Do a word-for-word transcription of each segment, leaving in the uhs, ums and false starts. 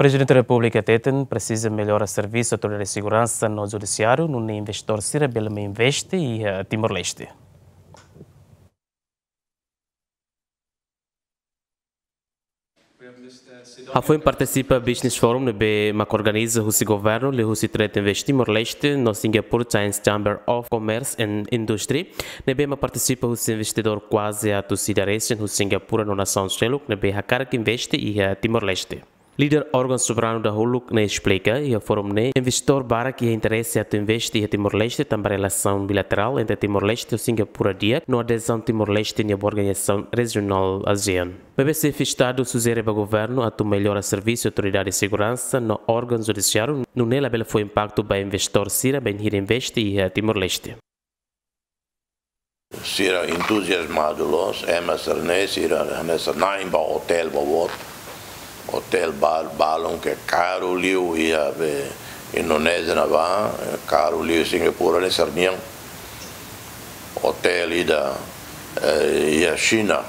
Prezidente Repúblika hateten presiza mellora servisu autoridade seguransa no judisiáriu, nune'e investidór sira bele mai investe iha Timor-Leste. Hafoin partisipa Business Forum ne'ebé mak organiza husi governu liuhusi Trade Invest Timor-Leste no Singapore Chinese Chamber of Commerce and Industry, ne'ebé mak partisipa husi investidór kuaze atus ida resin husi Singapura no nasaun seluk ne'ebé hakarak investe iha Timor-Leste. Líder órgaun soberanu dahuluk ne'e esplika iha forum ne'e investidór barak iha interese atu investe iha Timor-Leste tanba relasaun bilaterál entre Timor-Leste ho Singapura di'ak no adezaun Timor-Leste nia ba organizasaun rejionál ASEAN. Maibé xefe Estadu sujere ba governu atu mellora servisu autoridade seguransa no órgaun judisiáriu, nune'e labele fó impaktu ba investidór sira bainhira investe iha Timor-Leste. Sira entuziasmadu loos, ema sira-ne'e, sira hanesan na'in ba otél boboot, otél ba-, balun ke karu liu iha be Indonézia ne'ebá, karu liu Singapura ne'e sira-nian. Otél ida, eh, iha Xina,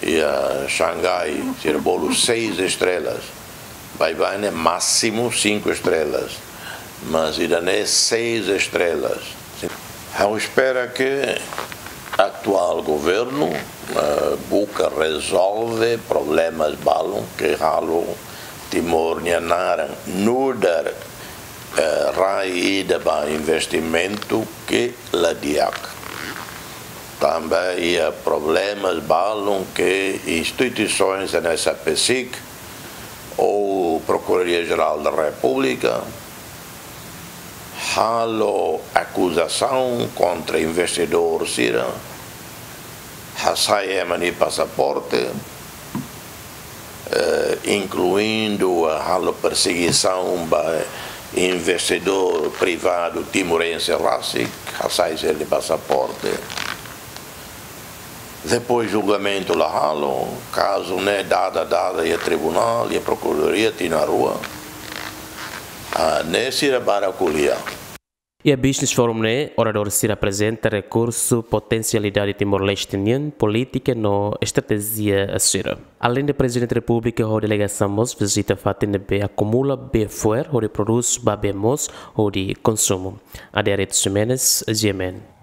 iha Xangai, sira bolu seis estrelas. Baibain ne'e másimu cinco estrelas, mas ida-ne'e seis estrelas. Ha'u espera ke atuál governu, eh, buka rezolve problemas balun ke halo Timor nia naran nu'udar, eh, rai ida ba investimentu ke la di'ak. Tanba iha problemas balun ke instituisoens hanesan PCIC ou Procuradoria Geral da República halo akuzasaun kontra investidór sira, hasai ema nia pasaporte, eh, inkluindu, eh, halo persegisaun ba investidór privadu timorense rasik, hasai sira-nia pasaporte. Depois julgamentu la halo, kazu ne'e dada dada iha tribunál, iha prokuradoria, tinan rua. Ah, ne'e sira barak ko'alia. Iha Business Forum ne'e, oradór sira aprezenta rekursu, potensialidade Timor-Leste nian, polítika no estratéjia sira. Aleinde Prezidente Repúblika ho delegasaun mós vizita fatin ne'ebé akumula bee fo'er hodi prodús ba bee moos hodi konsumu. Adérito Ximenes, GMN.